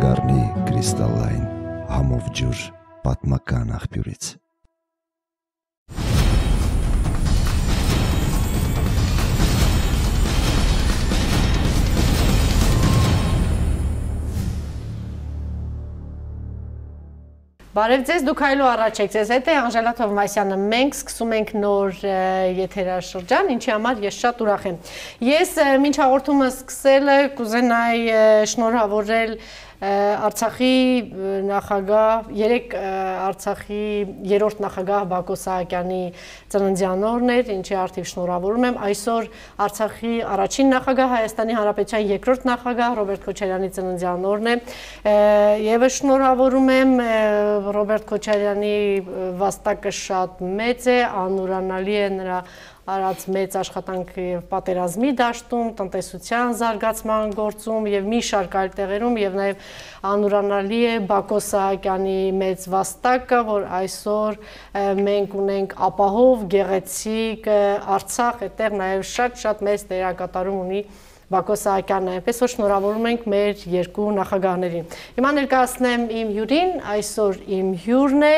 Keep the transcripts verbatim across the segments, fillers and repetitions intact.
կդառնի կրիստալային համով ջուր պատմական աղբյուրից։ Բարև ձեզ, դուք այլու առաջ եք, ձեզ հետ է Անժելա Թովմասյանը, մենք սկսում ենք նոր եթերաշրջան, ինչի համար ես շատ ուրախ եմ։ Ես մինչ հաղորդումը սկսելը կուզենայի շնորհավորել Արցախի նախագահ, երեք Արցախի երրորդ նախագահ Բակո Սահակյանի ծննդյան օրն էր, ինչի արդիվ շնորհավորում եմ, այսօր Արցախի առաջին նախագահ, Հայաստանի Հանրապետության երկրորդ նախագահ Ռոբերտ Քոչարյանի ծննդյան օրն է, եւս շնորհավորում եմ Ռոբերտ Քոչարյանի վաստակը շատ մեծ է, անուրանալի է նրա արած մեծ աշխատանքը եւ պատերազմի դաշտում, տնտեսության զարգացման գործում եւ մի շարք այլ տեղերում եւ նաեւ անուրանալի է Բակո Սահակյանի մեծ վաստակը, որ այսօր մենք ունենք ապահով, գեղեցիկ Արցախ, այդտեղ նաեւ շատ-շատ մեծ դերակատարում ունի Բակո Սահակյանն, այնպես որ շնորհավորում ենք մեր երկու նախագահներին։ Հիմա ներկայացնեմ իմ հյուրին, այսօր իմ հյուրն է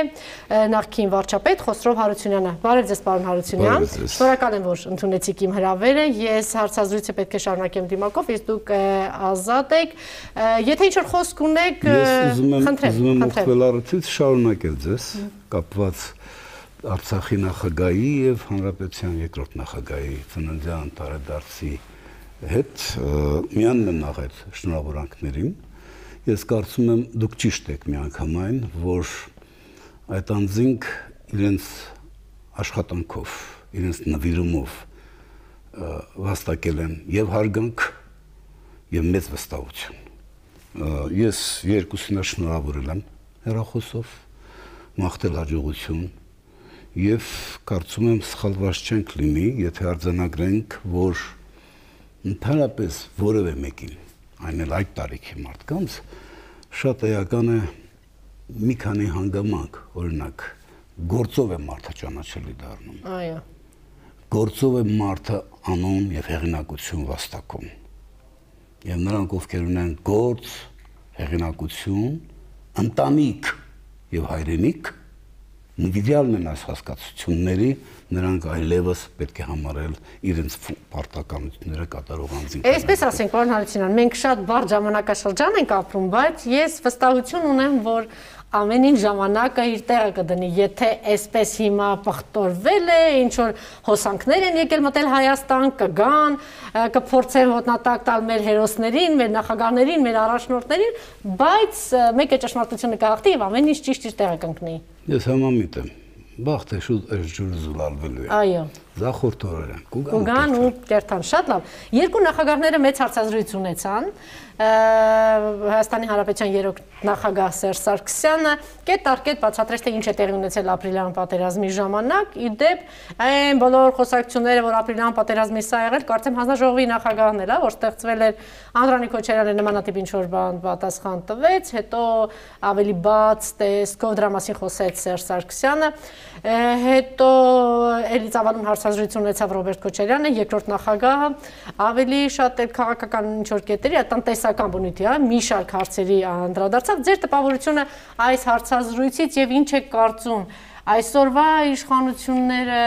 նախկին վարչապետ Խոսրով Հարությունյանը։ Բարև ձեզ, պարոն Հարությունյան։ Շնորհակալ եմ, որ ընդունեցիք իմ հրավերը։ Ես հարցազրույցը պետք է շարունակեմ դիմակով, իսկ դուք ազատ եք։ Եթե ինչ-որ խոսք ունեք, խնդրեմ, ուզում եմ օգտվել առիթից շարունակել ձեզ կապված Արցախի նախագահի եւ Հանրապետության երկրորդ նախագահի ծննդյան տարեդարձի հետ միանն եմ աղել շնորհավորանքներին, ես կարծում եմ դուք ճիշտ եք միանգամայն, որ այդ անձինք իրենց աշխատանքով, իրենց նվիրումով վաստակել են եւ հարգանք եւ մեծ վստահություն։ Ես երկուսին շնորհավորել եմ հեռախոսով, մաղթել հաջողություն եւ կարծում եմ սխալված չենք լինի, եթե արձանագրենք, որ ընդհանրապես որևէ մեկին, այն էլ այդ տարիքի մարդկանց, շատ էական է մի քանի հանգամանք, օրինակ, գործով է մարդը ճանաչելի դառնում։ Այո։ Գործով է մարդը անուն եւ հեղինակություն վաստակում։ Եվ նրանք, ովքեր ունեն գործ, հեղինակություն, ընտանիք եւ հայրենիք, նվիրյալն են այս հասկացությունների, նրանք այլևս պետք է համարել իրենց պարտականությունները կատարող անձինք։ Այսպես ասենք, պարոն Հարությունյան, մենք շատ բարդ ժամանակաշրջան ենք ապրում, բայց ես վստահություն ունեմ, որ ամեն ինչ ժամանակը իր տեղը կդնի, եթե այսպես հիմա պղտորվել է, ինչ որ հոսանքներ են եկել մտել Հայաստան, կգան, կփորձեն ոտնատակ տալ մեր հերոսներին, մեր նախագահներին, մեր առաջնորդներին, բայց մեկ է ճշմարտությունը կհաղթի եւ ամեն ինչ ճիշտ իր տեղը կընկնի։ Ես համամիտ եմ։ Բախտը շուտ այս ջուրը զուլալվելու է։ Այո։ Զախորդ օրերը են։ Կուգան ու կերտան, շատ լավ։ Երկու նախագահները մեծ հարցազրույց ունեցան։ Հայաստանի Հանրապետության երրորդ նախագահ Սերժ Սարգսյանը կետ առ կետ բացատրեց, թե ինչ է տեղի ունեցել ապրիլյան պատերազմի ժամանակ, ի դեպ այն բոլոր խոսակցությունները, որ ապրիլյան պատերազմի սա եղել, կարծեմ հանձնաժողովի նախագահն էլ, որ ստեղծվել էր Անդրանիկ Քոչարյանը նմանատիպ ինչ-որ բան պատասխան տվեց, հետո ավելի բաց տեսքով դրա մասին խոսեց Սերժ Սարգսյանը, հետո էլի ծավալուն հարցազրույց ունեցավ Ռոբերտ Քոչարյանը, երկրորդ նախագահը, ավելի շատ քաղաքական ինչ-որ կետերի, տնտեսական բնույթի, մի շարք հարցերի անդրադարձավ։ Ձեր տպավորությունը այս հարցազրույցից եւ ինչ եք կարծում, այսօրվա իշխանությունները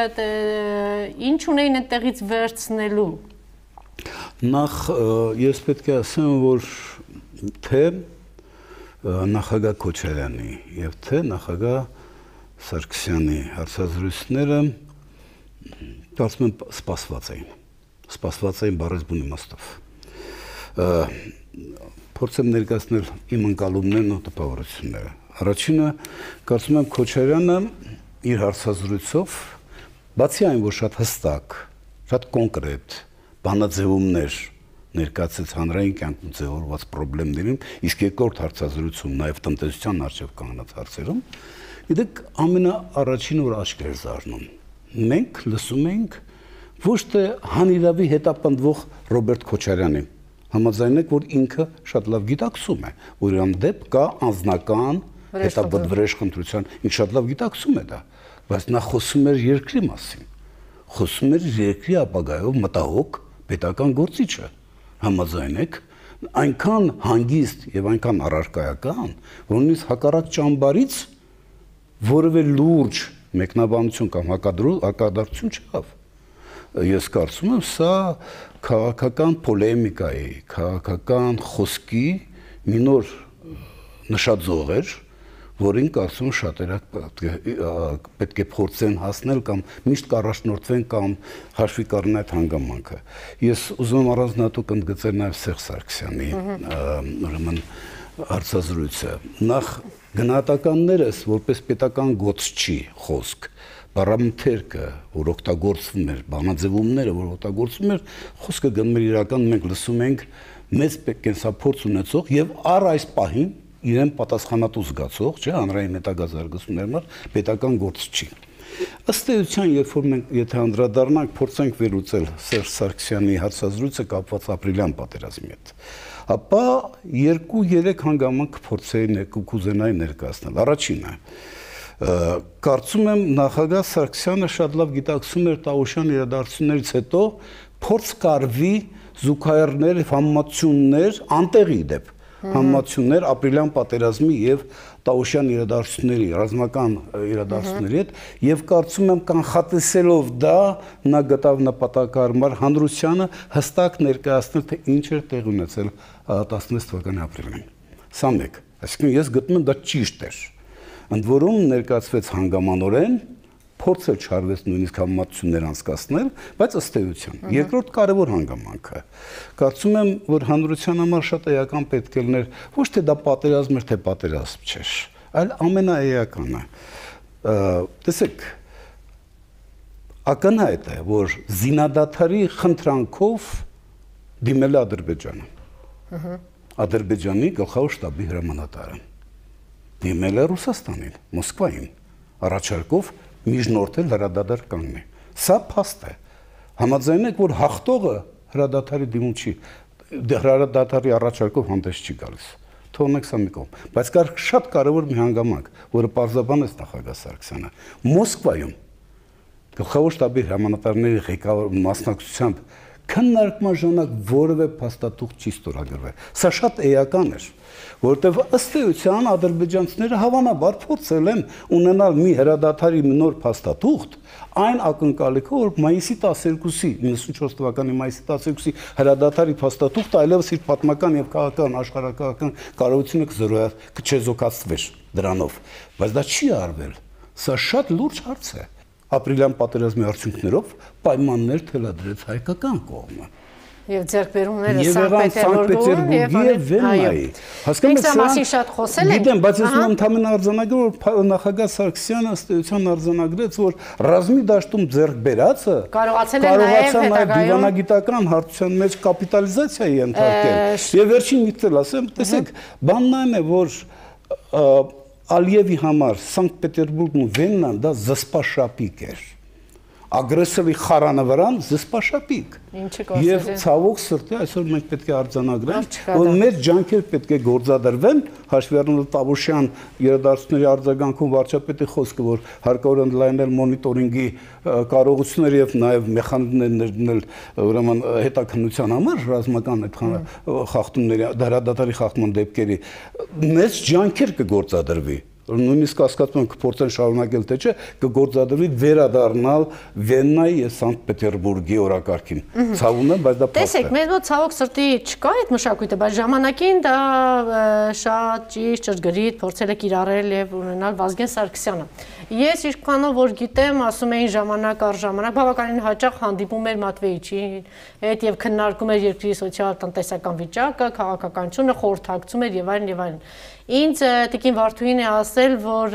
ինչ ունեին այդտեղից վերցնելու։ Նախ ես պետք է ասեմ, որ թե նախագահ Քոչարյանի եւ թե նախագահ Սարգսյանի հարցազրույցները կարծում եմ սպասված էին, սպասված էին բառից բուն իմաստով։ Փորձեմ ներկայացնել իմ ընկալումներն ու տպավորությունները։ Առաջինը, կարծում եմ Քոչարյանը իր հարցազրույցով, բացի այն, որ շատ հստակ, շատ կոնկրետ բանաձևումներ ներկայացրեց հանրային կյանքում ձևավորված խնդիրներին, իսկ երկրորդ հարցազրույցում նաև տնտեսության առջև կանգնած հարցերում, իդեպ ամենաառաջինը, որ աչք էր զարնում, մենք լսում ենք ոչ թե հանիրավի հետապնդվող Ռոբերտ Քոչարյանին, համաձայն եք, որ ինքը շատ լավ գիտակցում է, որ իրան դեպ կա անձնական հետապնդվրեժ խնդրության, ինքը շատ լավ գիտակցում է դա, բայց նա խոսում էր երկրի մասին, խոսում էր երկրի ապագայով մտահոգ պետական գործիչը, համաձայն եք, այնքան հանգիստ եւ այնքան առարկայական, որ նույնիսկ հակառակ ճամբարից որևէ լուրջ մեկնաբանություն կամ հակադարձություն չկավ։ Ես կարծում եմ, սա քաղաքական պոլեմիկայի, քաղաքական խոսքի մի նոր նշաձող էր, որին կարծում եմ շատերը պետք է փորձեն հասնել կամ միշտ կառաջնորդվեն կամ հաշվի կառնեն այդ հանգամանքը։ Ես ուզում եմ առանձնատու ընդգծել նաև Սերժ Սարգսյանի ուրեմն հարցազրույցը։ Նախ գնահատականներս որպես պետական գործչի խոսք, բառամթերքը, որ օգտագործվում էր, բանաձևումները, որ օգտագործվում էր, խոսքը գնում էր իրական, մենք լսում ենք մեծ կենսափորձ ունեցող եւ առ այս պահին իրեն պատասխանատու զգացող, չէ, հանրային հետագազարգացումների համար պետական գործչի։ Ըստ էության, երբ որ մենք եթե անդրադառնանք, փորձենք վերլուծել Սերժ Սարգսյանի հարցազրույցը կապված ապրիլյան պատերազմի հետ, ապա երկու-երեք հանգամանք փորձեի կուզենայի ներկայացնել։ Առաջինը, կարծում եմ նախագահ Սարգսյանը շատ լավ գիտակցում էր Տավուշյան իրադարձություններից հետո փորձ կարվի զուգահեռներ, համեմատություններ անտեղի դեպ համեմատություններ ապրիլյան պատերազմի եւ Տավուշյան իրադարձությունների, ռազմական իրադարձությունների հետ եւ կարծում եմ կանխատեսելով դա նա գտավ նպատակարար հանրությանը հստակ ներկայացնել թե ինչ էր տեղ ունեցել տասնվեց թվականի ապրիլին։ Սա մեկ, այսինքն ես գտնում եմ դա ճիշտ էր։ Ընդ որում ներկայացվեց հանգամանորեն, փորձել չարվեց նույնիսկ համեմատություններ անցկացնել, բայց ըստ էության։ Երկրորդ կարևոր հանգամանքը։ Կարծում եմ, որ հանրության համար շատ էական պետք է լիներ ոչ թե դա պատերազմ էր, թե պատերազմ չէր, այլ ամենաէականը։ Տեսեք, ակնհայտ է, որ զինադադարի խնդրանքով դիմել է Ադրբեջանը։ Ադրբեջանի գլխավոր շտաբի հրամանատարը դիմել է Ռուսաստանին, Մոսկվային, առաջարկով միջնորդել հրադադար կանգնի։ Սա փաստ է։ Համաձայն եք, որ հաղթողը հրադադարի դիմում չի, հրադադարի առաջարկով հանդես չի գալիս։ Թողնենք սա մի կողմ։ Բայց կար շատ կարևոր մի հանգամանք, որը պարզաբանեց նախագահ Սարգսյանը։ Մոսկվայում գլխավոր շտաբի հրամանատարների ղեկավար մասնակցությամբ քննարկման ժամանակ որևէ փաստաթուղթ չի ստորագրվել։ Սա շատ էական էր, որտեղ ըստ էության ադրբեջանցիները հավանաբար փորձել են ունենալ մի հրադադարի նոր փաստաթուղթ, այն ակնկալիքով, որ մայիսի տասներկուսի, իննսունչորս թվականի մայիսի տասներկուսի հրադադարի փաստաթուղթը այլևս իր պատմական եւ քաղաքական աշխարհակական կարողությունը կչեզոքացվեր դրանով, բայց դա չի արվել։ Սա շատ լուրջ հարց է։ Ապրիլյան պատերազմի արդյունքներով պայմաններ թելադրեց հայկական կողմը։ Եվ ձեռքբերումները Սանկտ-Պետերբուրգի եւ Վեննայի։ Հասկանում եք, մասին շատ խոսել ենք։ Գիտեմ, բայց ես ընդհանրապես արձանագրում, որ նախագահ Սարգսյանը ըստ էության արձանագրեց, որ ռազմի դաշտում ձեռք բերածը կարողացել է նաեւ դիվանագիտական հարցության մեջ կապիտալիզացիայի ենթարկել։ Եվ վերջին միտքել ասեմ, տեսեք, բանն այն է, որ Ալիևի համար Սանկտ-Պետերբուրգն ու Վեննան դա զսպաշապիկ էր։ Ագրեսորի խարանը վրան զսպաշապիկ։ Եվ ցավոք սրտի այսօր մենք պետք է արձանագրենք, որ մեր ջանքեր պետք է գործադրվեն, հաշվի առնելով Տավուշյան իրադարձությունների արձագանքում վարչապետի խոսքը, որ հարկավոր է ընդլայնել մոնիտորինգի կարողությունները եւ նաեւ մեխանիզմներ ներդնել ուրեմն հետաքննության համար ռազմական այդ խախտումների, դարադատարի խախտման դեպքերի մեծ ջանքեր կգործադրվի։ Նույնիսկ հասկացում եմ կփորձեն շարունակել թե չէ, կգործադրվի վերադառնալ Վեննայի եւ Սանկտ-Պետերբուրգի օրակարգին։ Ցավում եմ, բայց դա փաստ է։ Տեսեք, մեր մոտ ցավոք սրտի չկա այդ մշակույթը, բայց ժամանակին դա շատ ճիշտ ճշգրիտ փորձել է կիրառել եւ ունենալ Վազգեն Սարգսյանը։ Ես ինչքանով որ գիտեմ, ասում էին ժամանակ առ ժամանակ բավականին հաճախ հանդիպում էր Մատվեիչին հետ եւ քննարկում էր երկրի սոցիալ-տնտեսական վիճակը, քաղաքականությունը, խորհրդակցում էր եւ այլն եւ այլն։ Ինձ Տիկին Վարդուհին է ասել, որ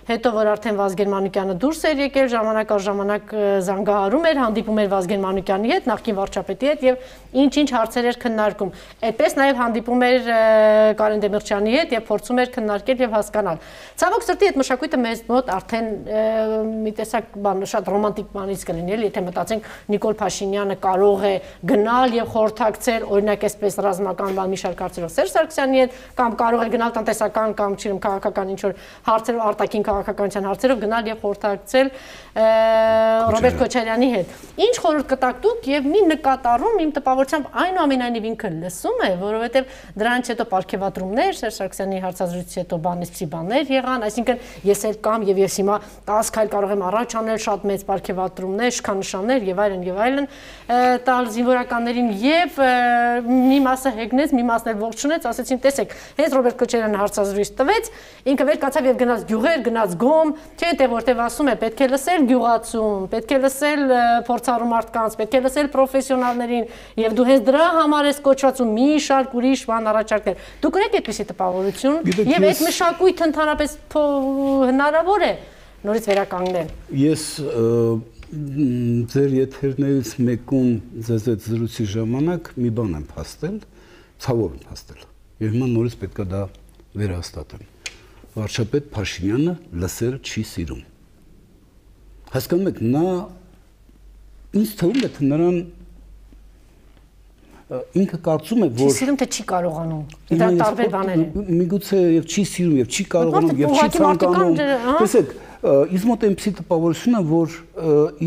հետո որ արդեն Վազգեն Մանուկյանը դուրս էր եկել, ժամանակ առ ժամանակ զանգահարում էր, հանդիպում էր Վազգեն Մանուկյանի հետ, նախկին վարչապետի հետ եւ ինչ-ինչ հարցեր էր քննարկում։ Այդպես նաեւ հանդիպում էր Կարեն Դեմիրճյանի հետ եւ փորձում էր քննարկել եւ հասկանալ։ Ցավոք սրտի այդ մշակույթը մեզ մոտ արդեն մի տեսակ բան շատ ռոմանտիկ բանից կլինի, եթե մտածենք Նիկոլ Փաշինյանը կարող է գնալ եւ խորհրդակցել, օրինակ այսպես ռազմական բան մի շարք հարցերով Սերժ Սարգսյանի հետ, կամ կարող է գնալ տնտեսական կամ չեմ քաղաքական ինչ-որ հարցերով, արտաքին քաղաքականության հարցերով գնալ եւ խորհրդակցել Ռոբերտ Քոչարյանի հետ։ Ինչ խորհուրդ կտաք դուք եւ մի նկատառում իմ տպավորությամբ այնուամենայնիվ ինքը լսում է, որովհետեւ դրանից հետո պարգևատրումներ, Սերժ Սարգսյանի հարցազրույցից հետո բանից բաներ եղան, այսինքն ես էլ կամ եւ ես հիմա տասը քայլ կարող եմ առաջ անել, շատ մեծ պարգևատրումներ, շքանշաններ եւ այլն եւ այլն տալ զինվորականներին եւ մի մասը հեգնեց, մի մասն էլ ողջունեց, ասեցին տեսեք, հենց Ռոբերտ Քոչարյանը հարցազրույց տվեց, ինքը վեր կացավ եւ գնաց գյուղեր, գնաց գոմ, չէ՞ թե որտեվ ասում է պետք է լսել գյուղացուն, պետք է լսել փորձառու մարդկանց, պետք է լսել պրոֆեսիոնալներին եւ դու հենց դրա համար ես կոչված ու մի շարք ուրիշ բան առաջարկել։ Դուք ունեք այդպիսի տպավորություն եւ այդ մշակույթը ընդհանրապես հնարավոր է նորից վերականգնել։ Ես ձեր եթերներից մեկում ձեզ այդ զրույցի ժամանակ մի բան եմ փաստել, ցավով եմ փաստել։ Եվ հիմա նորից պետք է դա վերահաստատեմ։ Վարչապետ Փաշինյանը լսել չի սիրում։ Հասկանում եք, նա ինձ թվում է, թե նրան ինքը կարծում է, որ չի սիրում, թե չի կարողանում։ Դա տարբեր բաներ են։ Միգուցե եւ չի սիրում, եւ չի կարողանում, եւ չի ցանկանում։ Տեսեք, ինձ մոտ այնպեսի տպավորություն է, որ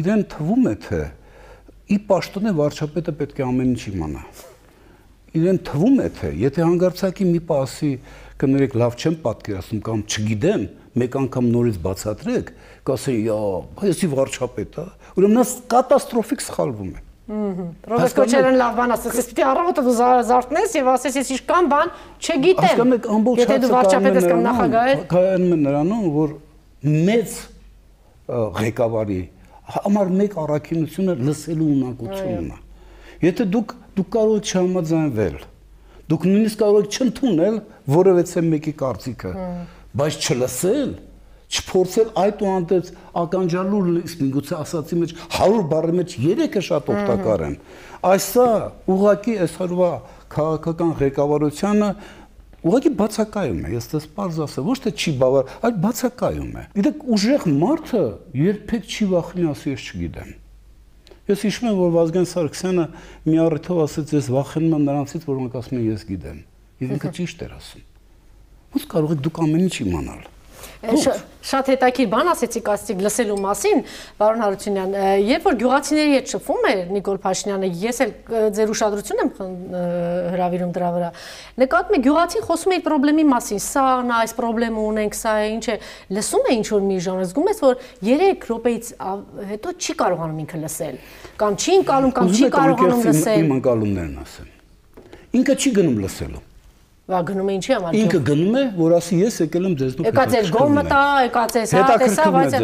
իրեն թվում է, թե ի պաշտոնե վարչապետը պետք է ամեն ինչ իմանա։ Իրեն թվում է, թե եթե հանգարցակի մի պասի կներեք լավ չեմ պատկերացնում կամ չգիտեմ, մեկ անգամ նորից բացատրեք, կասեն, «Յա, այսի վարչապետ է», ուրեմն նա կատաստրոֆիկ սխալվում է։ Ռոբերտ Քոչարյանը լավ բան ասաց, ես պիտի առավոտը դու զարթնես եւ ասես ես ինչքան բան չգիտեմ։ Եթե դու վարչապետ ես կամ նախագահ ես, կայանում է նրանում, որ մեծ ղեկավարի համար մեկ առաքինությունը լսելու ունակությունն է։ Եթե դուք դուք կարող եք չհամաձայնվել, դուք նույնիսկ կարող եք չընդունել որևէ մեկի կարծիքը, բայց չլսել, չփորձել այդ ու անտես ականջալուր իսկ միգուցե ասացի մեջ հարյուր բառի մեջ երեքը շատ օգտակար են։ Այսա ուղղակի այսօրվա քաղաքական ղեկավարությունը ուղղակի բացակայում է, ես դες պարզ ասեմ, ոչ թե չի բավար, այլ բացակայում է։ Գիտեք, ուժեղ մարդը երբեք չի վախենա ասի ես չգիտեմ։ Ես հիշում եմ, որ Վազգեն Սարգսյանը մի առիթով ասեց, ես վախենում եմ նրանցից, որոնք ասում են ես գիտեմ։ Եվ ինքը ճիշտ էր ասում։ Ո՞նց կարող եք դուք ամեն ինչ իմանալ։ Շատ հետաքրքիր բան ասեցիք ասեցիք լսելու մասին, պարոն Հարությունյան, երբ որ գյուղացիների հետ շփվում էր Նիկոլ Փաշինյանը, ես էլ ձեր ուշադրություն եմ հրավիրում դրա վրա։ Նկատում եք գյուղացին խոսում է իր խնդրի մասին, սա նա այս խնդրը ունենք, սա ինչ է, լսում է ինչ որ մի ժամ, զգում ես որ երեք րոպեից հետո չի կարողանում ինքը լսել, կամ չի ընկալում, կամ չի կարողանում լսել։ Իմ ընկալումներն ասեմ։ Ինքը չի գնում լսելու։ Վա գնում է ինչի համար։ Ինքը գնում է, որ ասի ես եկել եմ ձեզնով։ Եկած էր գոմը տա, եկած է սա, տեսա, բայց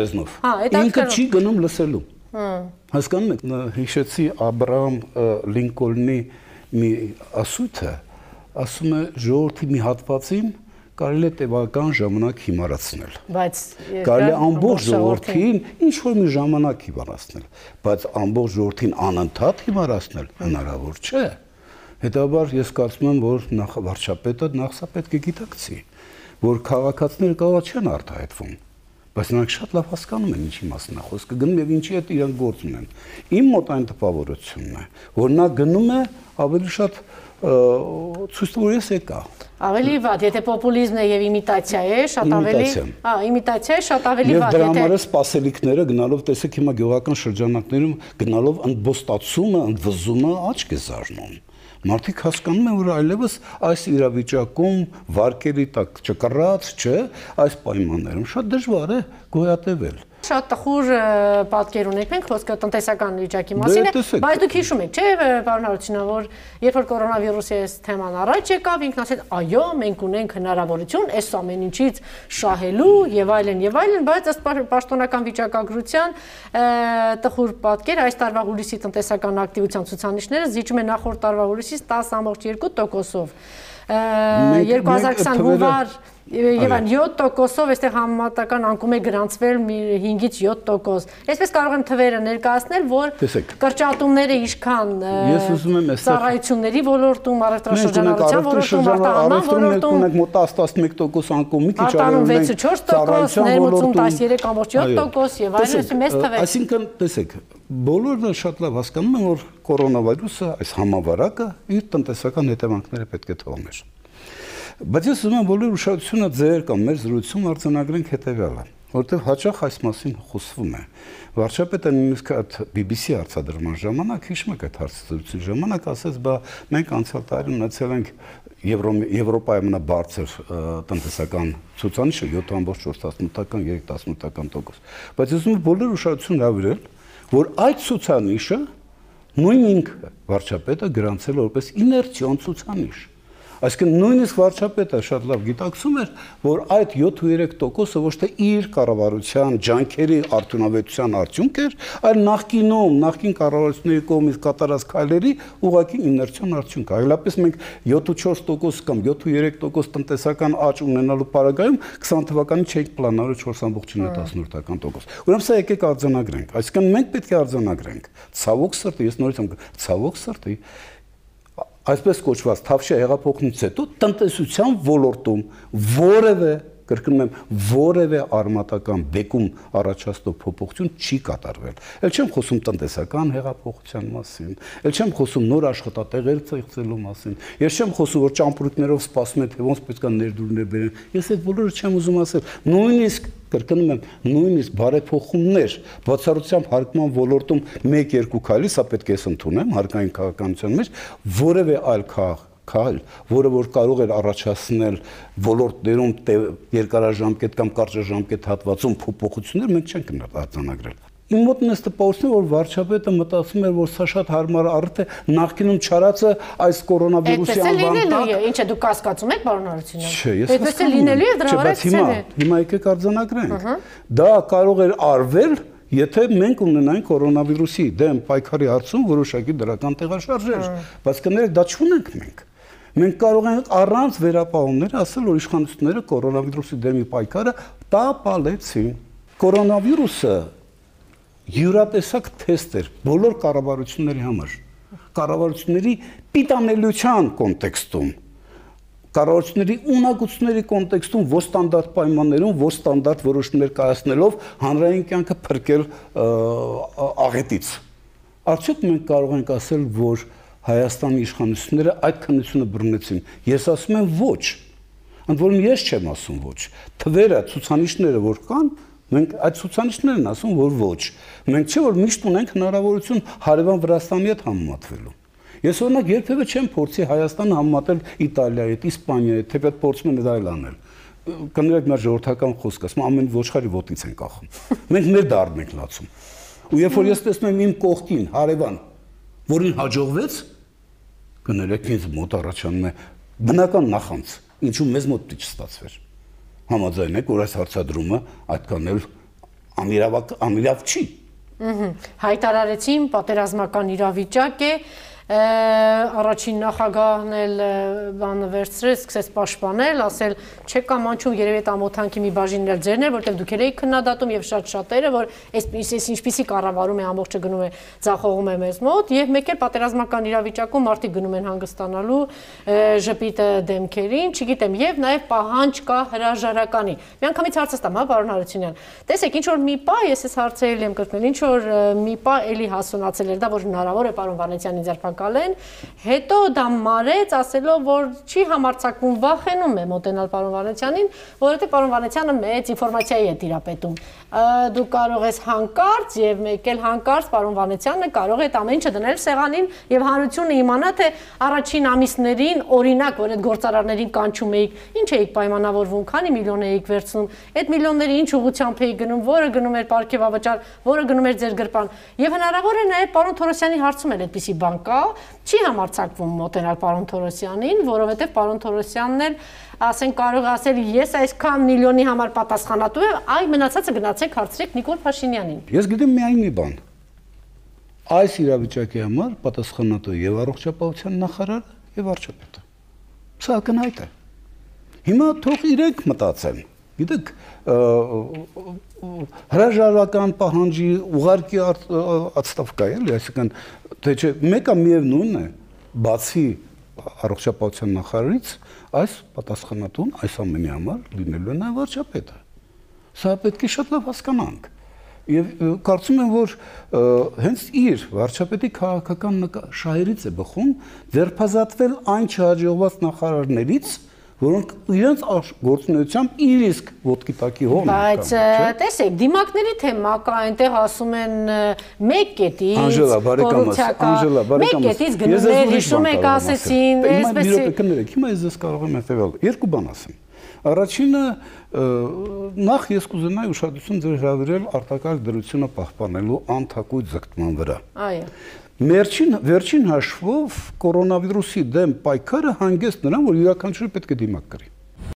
հա, ինքը չի գնում լսելու։ Հասկանում եք, հիշեցի Աբրահամ Լինկոլնի մի ասույթը, ասում է ժողովրդի մի հատվածին կարելի է տևական ժամանակ հիմարացնել։ Բայց կարելի է ամբողջ ժողովրդին ինչ որ մի ժամանակ հիմարացնել, բայց ամբողջ ժողովրդին անընդհատ հիմարացնել հնարավոր չէ։ Հետաբար ես կարծում եմ, որ նախ վարչապետը նախ սա պետք է գիտակցի, որ քաղաքացիները կարող չեն արտահայտվում, բայց նրանք շատ լավ հասկանում են ինչի մասին է խոսքը, գնում եւ ինչի հետ իրենք գործ ունեն։ Իմ մոտ այն տպավորությունն է, որ նա գնում է ավելի շատ ցույց տալու ես եկա։ Ավելի վատ, եթե պոպուլիզմն է եւ իմիտացիա է, շատ ավելի, հա, իմիտացիա է, շատ ավելի վատ, եթե։ Եվ դրա համար է սպասելիքները գնալով, տեսեք հիմա գյուղական շրջանակներում գնալով ընդբոստացումը, ընդվզումը աչք է զարնում։ Մարդիկ հասկանում են, որ այլևս այս իրավիճակում վարկերի տակ չկռած, չէ, այս պայմաններում շատ դժվար է գոյատևել։ Շատ տխուր պատկեր ունենք մենք խոսքը տնտեսական վիճակի մասին է, բայց դուք հիշում եք, չէ, պարոն Հարությունյան, որ երբ որ կորոնավիրուսի այս թեման առաջ եկավ, ինքն ասեց, այո, մենք ունենք հնարավորություն այս ամեն ինչից շահելու եւ այլն եւ այլն, բայց ըստ պաշտոնական վիճակագրության տխուր պատկեր այս տարվա հուլիսի տնտեսական ակտիվության ցուցանիշները զիջում են նախորդ տարվա հուլիսից տասը կόμma երկու տոկոսով։ երկու հազար քսան հունվար եւ այն յոթ տոկոսով այստեղ համեմատական անկում է գրանցվել հինգից յոթ տոկոս։ Այսպես կարող եմ թվերը ներկայացնել, որ կրճատումները ինչքան ծառայությունների ոլորտում, առևտրաշրջանառության ոլորտում, արտահանման ոլորտում ունենք մոտ տասը տասնմեկ տոկոս անկում, մի քիչ արևում վեց չորս տոկոս, ներմուծում տասներեք կամորջ յոթ տոկոս եւ այլն, մեծ թվեր։ Այսինքն, տեսեք, բոլորը շատ լավ հասկանում են, որ կորոնավիրուսը, այս համավարակը իր տնտեսական հետևանքները պետք է թողներ։ Բայց ես ուզում եմ բոլոր ուշադրությունը ձեր կամ մեր զրույցում արձանագրենք հետևյալը, որովհետև հաճախ այս մասին խոսվում է։ Վարչապետը նույնիսկ այդ բի բի սի արձադրման ժամանակ, հիշում եք այդ հարցազրույցի ժամանակ, ասաց, բա մենք անցյալ տարի ունեցել ենք Եվրոպայի ամենաբարձր տնտեսական ցուցանիշը յոթ կամորջ չորս տասնութ, երեք տասնութ տոկոս։ Բայց ես ուզում եմ բոլոր ուշադրությունը հրավիրել, որ այդ ցուցանիշը նույն ինքը վարչապետը գրանցել որպես իներցիոն ցուցանիշ։ Այսինքն նույնիսկ վարչապետը շատ լավ գիտակցում էր, որ այդ յոթ ու երեք տոկոսը ոչ թե իր կառավարության ջանքերի արդյունավետության արդյունք էր, այլ նախկինում, նախկին կառավարությունների կողմից կատարած քայլերի ուղղակի իներցիոն արդյունք։ Այլապես մենք յոթ ու չորս տոկոս կամ յոթ ու երեք տոկոս տնտեսական աճ ունենալու պարագայում քսան թվականին չէինք պլանավորել չորս կամորջ տասնութ տոկոս։ Ուրեմն սա եկեք արձանագրենք։ Այսինքն մենք պետք է արձանագրենք։ Ցավոք սրտի, ես նորից եմ ցավոք սրտի այսպես կոչված Թավշյա հեղափոխությունից հետո տնտեսության ոլորտում որևէ, կրկնում եմ, որևէ արմատական բեկում առաջացնող փոփոխություն չի կատարվել։ Էլ չեմ խոսում տնտեսական հեղափոխության մասին, էլ չեմ խոսում նոր աշխատատեղեր ստեղծելու մասին, ես չեմ խոսում, որ ճամպրուկներով սպասում են, թե ոնց պետք է ներդրումներ բերեն։ Ես այդ բոլորը չեմ ուզում ասել։ Նույնիսկ կրկնում եմ, նույնիսկ բարեփոխումներ բացառությամբ հարկման ոլորտում մեկ-երկու քայլի, սա պետք է ընդունեմ հարկային քաղաքականության մեջ, որևէ այլ քաղաք քայլ, որը որ կարող էր առաջացնել ոլորտներում երկարաժամկետ կամ կարճաժամկետ հատվածում փոփոխություններ, մենք չենք արձանագրել։ Իմ մոտ նստը տպավորություն է, որ վարչապետը մտածում էր, որ սա շատ հարմար առիթ է նախկինում չարածը այս կորոնավիրուսի անվան տակ։ Ինչ է դուք կասկածում եք, պարոն Հարությունյան։ Չէ, ես այդպես է լինելու է դրա վրա հիմա հիմա եկեք արձանագրենք։ Դա կարող էր արվել, եթե մենք ունենայինք կորոնավիրուսի դեմ պայքարի հարցում որոշակի դրական տեղաշարժեր, բայց կներեք դա չունենք մենք։ Մենք կարող ենք առանց վերապահումների ասել, որ իշխանությունները կորոնավիրուսի դեմի պայքարը տապալեցին։ Կորոնավիրուսը յուրատեսակ թեստ էր բոլոր կառավարությունների համար։ Կառավարությունների պիտանելիության կոնտեքստում, կառավարությունների ունակությունների կոնտեքստում ոչ ստանդարտ պայմաններում, ոչ ստանդարտ որոշումներ կայացնելով հանրային կյանքը փրկել աղետից։ Արդյոք մենք կարող ենք ասել, որ Հայաստանի իշխանությունները այդ քննությունը բռնեցին։ Ես ասում եմ ոչ։ Ընդ որում ես չեմ ասում ոչ։ Թվերը, ցուցանիշները որ կան, մենք այդ ցուցանիշներն են ասում, որ ոչ։ Մենք չէ որ միշտ ունենք հնարավորություն հարևան Վրաստանի հետ համեմատվելու։ Ես օրինակ երբևէ չեմ փորձի Հայաստանը համեմատել Իտալիայի հետ, Իսպանիայի հետ, թեպետ փորձում են դա այլ անել։ Կներեք մեր ժողովրդական խոսքը, ասում ամեն ոչխարի ոտից են կախում։ Մենք մեր դառն ենք լացում։ Ու երբ որ ես տեսնում եմ իմ կողքին հարևան, որին հաջողվեց, կներեք ինձ մոտ առաջանում է բնական նախանց, ինչու մեզ մոտ պիտի չստացվեր։ Համաձայն եք, որ այս հարցադրումը այդքան էլ անիրավ չի։ Հայտարարեցին, պատերազմական իրավիճակ է, առաջին նախագահն էլ բանը վերցրեց, սկսեց պաշտպանել, ասել չեք կամաչում երևի այդ ամոթանքի մի բաժինն էլ ձերն էր, որտեղ դուք եք քննադատում եւ շատ շատերը, որ այս ինչպիսի կառավարում է ամբողջը գնում է ձախողում է մեզ մոտ եւ մեկ էլ պատերազմական իրավիճակում մարդիկ գնում են հանգստանալու ժպիտը դեմքերին, չգիտեմ, եւ նաեւ պահանջ կա հրաժարականի։ Միանգամից հարցը տամ, հա, պարոն Հարությունյան։ Տեսեք, ինչ որ մի պա, ես ես հարցերել եմ կրկնել, ինչ որ մի պա էլի հասունացել էր, դա որ հնարավոր է պարոն Վանեցյանի ձերբակալեն, հետո դա մարեց, ասելով, որ չի համարձակվում, վախենում է մոտենալ պարոն Վանեցյանին, որովհետեւ պարոն Վանեցյանը մեծ ինֆորմացիայի է տիրապետում։ Դու կարող ես հանկարծ եւ մեկ էլ հանկարծ պարոն Վանեցյանը կարող է այդ ամեն ինչը դնել սեղանին եւ հանրությունը իմանա թե առաջին ամիսներին օրինակ որ այդ գործարարներին կանչում էիք, ինչ էիք պայմանավորվում, քանի միլիոն էիք վերցնում, այդ միլիոնները ինչ ուղղությամբ էիք գնում, որը գնում էր պարգևավճար, որը գնում էր ձեր գրպան։ Եվ հնարավոր է նաեւ պարոն Թորոսյանի հարցում էլ այդպիսի բան կա, չի համարձակվում մոտենալ պարոն Թորոսյանին, որովհետեւ պարոն Թորոսյանն էլ ասեն կարող ասել ես այսքան միլիոնի համար պատասխանատու եմ, այ մնացածը գնացեք հարցրեք Նիկոլ Փաշինյանին։ Ես գիտեմ միայն մի բան։ Այս իրավիճակի համար պատասխանատու եւ առողջապահության նախարարը եւ վարչապետը։ Սա ակնհայտ է։ Հիմա թող իրենք մտածեն։ Գիտեք, հրաժարական պահանջի ուղարկի ատստավկա էլի, այսինքն թե չէ մեկը միևնույնն է, բացի առողջապահության նախարարից, այս պատասխանատուն այս ամենի համար լինելու է նաև վարչապետը։ Սա պետք է շատ լավ հասկանանք։ Եվ կարծում եմ, որ հենց իր վարչապետի քաղաքական շահերից է բխում ձերբազատվել այն չհաջողված նախարարներից, որոնք իրենց գործունեությամբ իր իսկ ոտքի տակի հողն են։ Բայց տեսեք, դիմակների թեմա կա, այնտեղ ասում են մեկ կետից Անժելա, բարեկամս, Անժելա, բարեկամս։ Մեկ կետից գնումներ, հիշում եք, ասեցին, այսպես է։ Հիմա ես ձեզ կարող եմ հետևել։ Երկու բան ասեմ։ Առաջինը նախ ես կուզենայի ուշադրություն ձեր հրավիրել արտակարգ դրությունը պահպանելու անթակույց ձգտման վրա։ Այո։ Վերջին վերջին հաշվով կորոնավիրուսի դեմ պայքարը հանգեցտ նրան, որ յուրաքանչյուրը պետք է դիմակ կրի։